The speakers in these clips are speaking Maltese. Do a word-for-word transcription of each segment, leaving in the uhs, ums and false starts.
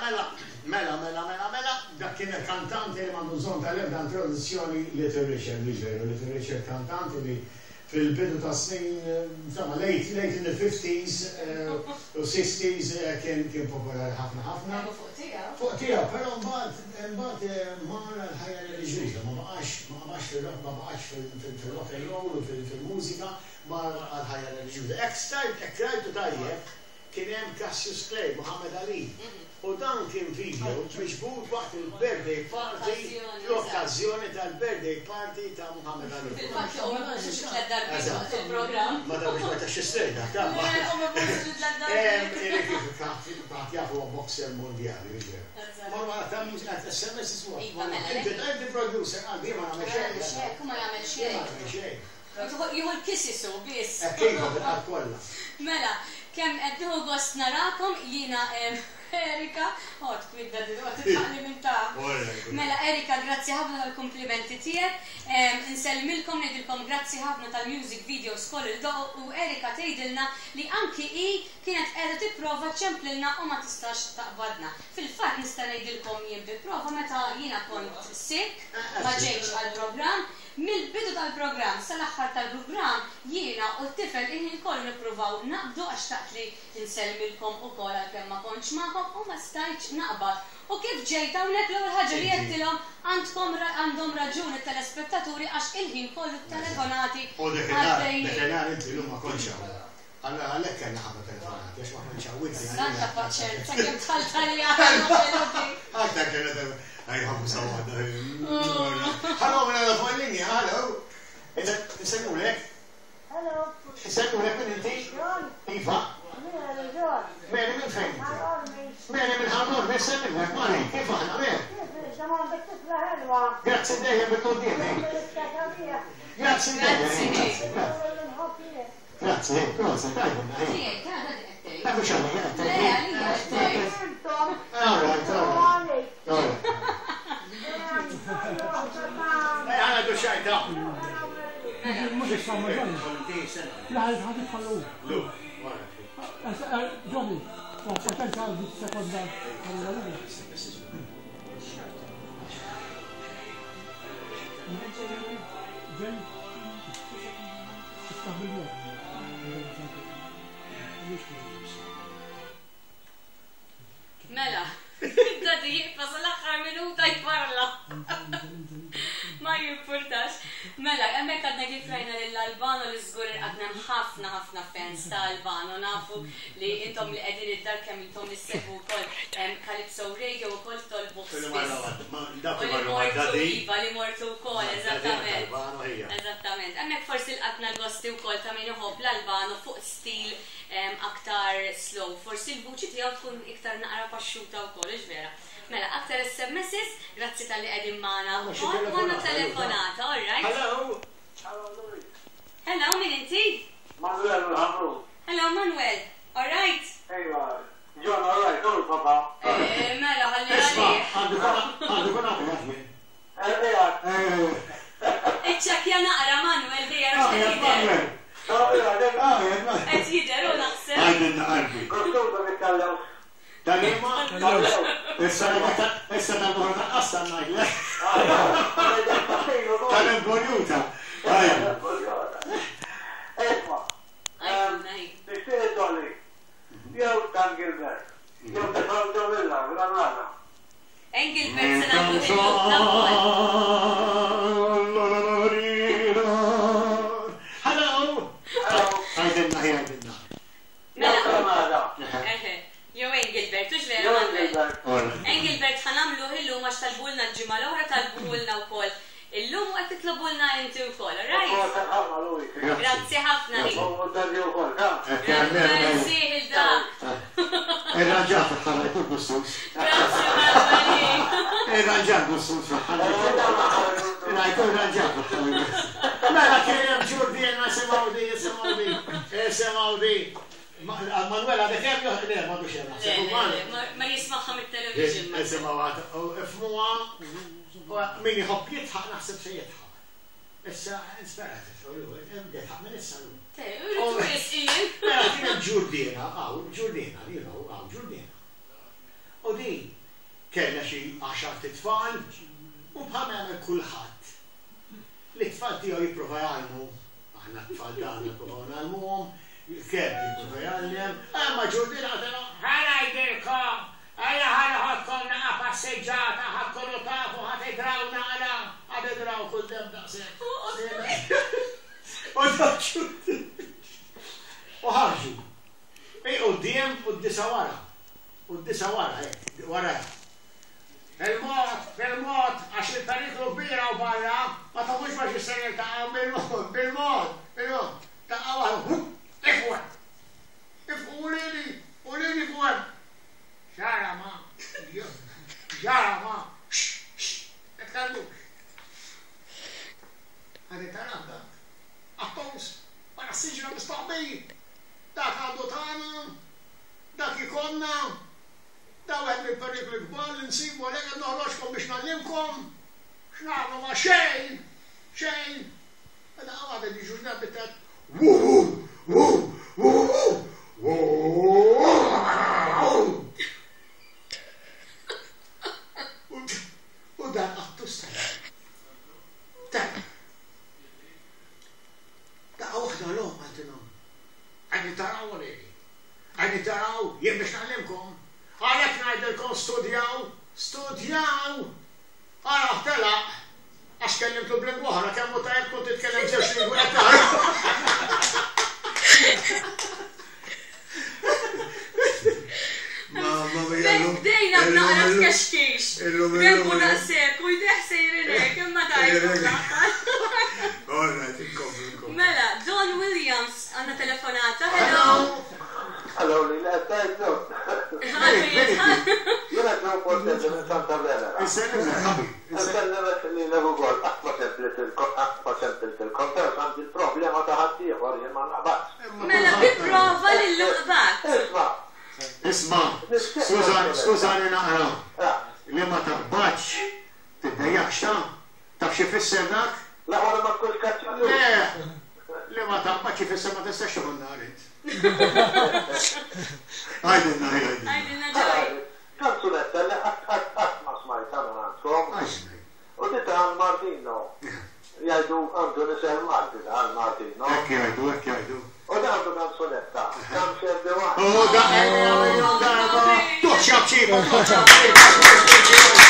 Mela, mela, mela, mela, mela, dak kien il-kantanti li m'għandu bżonn tal-ebda introduzzjoni, Little Richard, li ġeru, Little Richard, kantanti li fil-bidu ta' snin, insomma, late, late in the fifties u sixties kien kien popolari ħafna ħafna. Fuq tiegħu. Fuq tiegħu, però mbagħad mbagħad mar għall-ħajja reliġjuża, ma baqax ma baqax fil-rock, ma baqax fil-rock and roll u fil-mużika, mar għall-ħajja reliġjuża. Ek stajt, ek rajtu tajjeb, kien hemm Cassius Clay, Muhammad Ali. U dan kien video miġbud waqt il-birthday party, l-okkażjoni tal-birthday party ta' Muhammad Ali. Fil-fatt, u ma tlet darbiet waqt il-programm. Ma da biex ma tax strejda, ta' U ma tlet darbiet. Kif jafu, boxer mondjali, ġer. Ma ma ta' mużika S M S ismu. Iva, mela. Inti inti producer, għalbi ma nagħmel xejn. Xejn, ma jagħmel xejn. Ma nagħmel xejn. Jieħu l-kisisu biss. Kif bil-qalb kollha. Mela, kemm qed nieħu gost narakom jiena, Erika, oh, twidda di, titħalli minn ta'. Mela, Erika, grazzi ħafna tal-komplimenti tiegħek. Insellmilkom, ngħidilkom grazzi ħafna tal-music videos koll il-doq u Erika tgħidilna li anki hi kienet qiegħda tipprova ċemplilna u ma tistax taqbadna. Fil-fatt nista' ngħidilkom jien bi prova, meta jiena kont sick, ma ġejtx għall-programm, mill-bidu tal-programm sal-aħħar tal-programm jiena u t-tifel il-ħin kollu nippruvaw naqbdu, għax taqt li nsellmilkom ukoll għalkemm ma kontx magħkom u ma stajtx naqbad. U kif ġejt hawnhekk, l-ewwel ħaġa li għedtilhom, għandkom għandhom raġuni telespettaturi għax il-ħin kollu telefonati U dakinhar, għaddejjin. Dakinhar inti llum ma kontx hawn. Allora għalhekk kellna ħafna telefonati, għax ma kontx hawn inti. Santa paċenza, kemm dħalt għalija. Aktar kellna, għaj ħafna sa waħda. Hello, mela fuq il-linja, hello. Insellmulek? Hello. Insellmulek, minn inti? John. Iva. Mary John. Mary, minn fejn inti? Ħarormi. Mary minn Ħal Qormi, insellmulek, Mary, kif aħna, Mary? Kif, da għandek tifla ħelwa. Grazzi dejjem bil-quddiem, eh. Grazzi dejjem. Grazzi. Grazzi, proset, tajba, eh. Tiegħek, ta' dik qed tgħid. Dak mhux għalija, qed Le, tgħid. għalija qed tgħid. Intom. All right, all right. All right. Eh, ħana du xajta. Mhux issa ma Johnny. La ħad tħallu. Lu, wara. Johnny, paċenza għal sekonda. Ġej. Iftaħ bil-mod. Mela, Daddy jibqa' sal-aħħar minuta jparla. Ma jimpurtax. Mela, hemmhekk għadna kif rajna lil Albano, li żgur għadna ħafna ħafna fans ta' Albano. Nafu li intom li qegħdin id-dar, kemm intom issegwu wkoll Calypso Radio wkoll tolbu Kullu spiss. marra waħda, ma- dak U li marra mortu waħda. Iva, li mortu wkoll, Ma- eżattament. Albano, hija. Eżattament. Hemmhekk forsi lqatna l-gosti wkoll ta' min iħobb l-Albano fuq stil em, aktar slow. Forsi l-vuċi tiegħu tkun iktar naqra paxxuta wkoll, hux vera? Mela, aktar S M Ss, grazzi talli qegħdin magħna. Għandna xi Għandna telefonata. Telefonata, all right. Hello. Hello, min inti? Manuel Hamru. Hello, Manuel. All right. Ejwa, John, all right, all papa. Eh, mela, ħalli Isma, għalih. għandu kun għandu kun għandu jien. Ejwa, Iċċekkja naqra, Manuel, dejja Ah, għax qed jidher. Manuel. ejwa, Ah, Manuel. Qed jidher u naħseb. Għajdilna qalbi. Kostuta nitkellem. Tal-imma, issa issa tal-buħor tal-qassa ngħidlek. Tal-imboljuta. Isma, Għajdilna, hi. nixtieq dolli. Jew Dan Gilbert. Jew Tefal Villa, Granada. Engelbert se nagħmlu il-lum. Hello. Għajdilna, hi, għajdilna. Mela, Granada. eħe, jew Engelbert, hux vera, Jew Manuel? Engelbert. Engelbert ħa nagħmlu illum għax talbulna l-ġimgħa l-oħra, talbulna wkoll illum u qed titlobulna inti wkoll, all right? ħafna, Louis. Grazzi ħafna, hi. U Daddy wkoll, ha? Grazzi il-dak. Irranġat ħalla jkun gustus. Grazzi Manuel, hi. Irranġat gustus ħalla jkun irranġat. Mela kien hemm ġurdien, simgħu di, simgħu di, simgħu di. Manuel għadek hemm jew le, m'għadux hemm. Le, le, le, ma- Ma jismagħha mit-television. Isimgħu għad, u ifmuha, min iħobb jidħaq naħseb se jidħaq. Issa, nispera, jidħaq minn issa l Te, uridu wisqin. Mela kienet ġurdiena, għaw, ġurdiena, you know, għaw, ġurdiena. U di, Kellna xi għaxar tfal u bħalma jagħmel kulħadd. Li t-tfal tiegħu jipprova jgħallmu, aħna t-tfal tagħna nippruvaw ngħallmuhom, il-kelb jipprova jgħallem, imma Ġurdin qatelu, ħa ngħidilkom, ejja ħa noħodkom naqa' passeġġata, ħa tkunu tafu ħa tidraw naqra, ħa tidraw kull dem daqshekk. U U ħarġu. Ej quddiem u d-disa wara. U d-disa wara, hekk, wara. Il-mod, bil-mod, għax il-periklu kbir hawn barra, ma tafux ma x'se niltaqgħu bil-mod, bil-mod, bil-mod. Daqqa waħda, ifqu hemm. Ifqu uliedi, uliedi fuq hemm. Xara ma, xara ma, tkellmux. Għadi taraw dak. Qattus, wara s-siġra mistoħbi. Dak għandu tagħna, dak ikollna, da wieħed mill-perikli kbar li nsibu għalhekk qed noħroġkom biex ngħallimkom x'nagħmlu ma' xejn, xejn. Daqqa waħda jiġu ġnab bitet, wuhu, wuhu, wuhu, wuhu. U dan qattus telaq. Telaq. Daqqa waħda l-omm qaltilhom, Għajni taraw uliedi, għajni taraw, jien biex ngħallimkom. Għalhekk ngħidilkom studjaw, studjaw. Ara telaq, għax kellimtu b'lingwa oħra, kemm hu tajjeb tkun titkellem żewġ lingwi qed tara. Mamma mia, illum. Bdejna b'naqra tkexkix. Illum, illum, Rembu illum. daqshekk u jdeh sejrin hekk, imma tajt fl-aħħar. All right, inkomplu, inkomplu. Mela, Don Williams għandna telefonata. Hello. Hello, li l-għed Għalfejn jitħall. Jiena Joe Portelli minn Santa Venera. Insellimlek, ħabib. Insellimek li l-ukoll qatt ma semplit qatt ma semplitilkom, però għandi l-problema ta' ħaddieħor jien ma naqbadx. Mela, bi prova li llum qbadt. Isma', Isma', skużani, skużani naqra. ah, Li ma taqbadx, tiddejjaqx ta'? Taf xi fisser dak? la wara ma tkunx kaċċallu. Le, li ma taqbadx ifisser ma tistax tieħu n-nar int. Għajdilna, għajdilna. Għajdilna Joey. Kanzunetta li qatt qatt qatt ma smajtha minn għandkom. Għajdilna. U di ta' Martino. Jgħidu għandu nisel Malti ta' Martino. Hekk jgħidu, hekk jgħidu. U da għandu kanzunetta. Kam xerdi waħda. U da miljun darba. Tuħ xabċiba, tuħ xabċiba.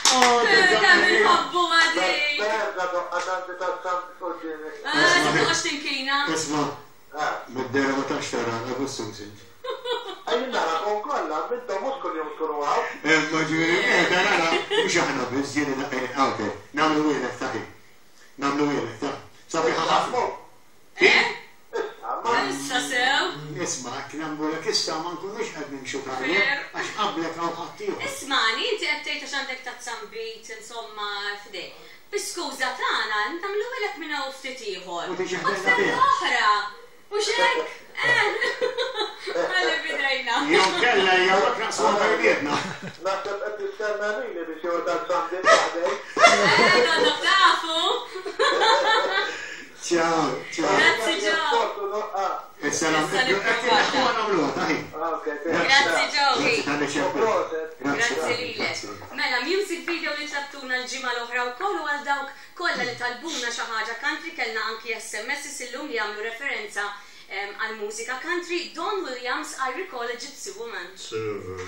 Kemm inħobbu għadi. Berda doqqa tanti ta' sam qudiemi. Ah, tibqax tinkina. Isma, Ah, mid-dera ma tafx tara, għagustu mżint. Għajn narakom kollha, intom mhux kuljum tkunu hawn. Imma ġifieri, eh, tara, mhux aħna biss ġieli daqqa għawte, nagħmlu wielek taħi. Nagħmlu wielek ta'. Sabiħa ħafna. Eh? Issa, ma Issa sew. Isma, nagħmlu lek issa ma nkunux qed nimxu tajjeb, Fair. għax qablek hawn ħaddieħor. Ismani, inti qed tgħid għax għandek ta' zambit, insomma, f'idej. Bi-skuża tagħna, nagħmlu lek minn hawn ftit ieħor. U tiġi U ħdejna tferra fiha. oħra. Mhux hekk? Eh. Ħalli bidejna. Jew kella jew hekk naqsmu bejnietna. naħseb qed tistenna lili biex jew ta' zambit waħdej. Eh, donnok tafu. Ciao, ciao. Grazzi Joe. Sportu doqqa. Is-salam. Issa Qed inneħħuha nagħmluha, taħi. Ok, Grazzi Joe. Grazzi tal-li ċempel. Proset. Grazzi lilek. Mela, music video li tlabtuna l-ġimgħa l-oħra wkoll u għal dawk kollha li talbuna xi ħaġa country kellna anki S M S illum li jagħmlu referenza em, għal mużika country. Don Williams, "I Recall a Gypsy Woman". Server.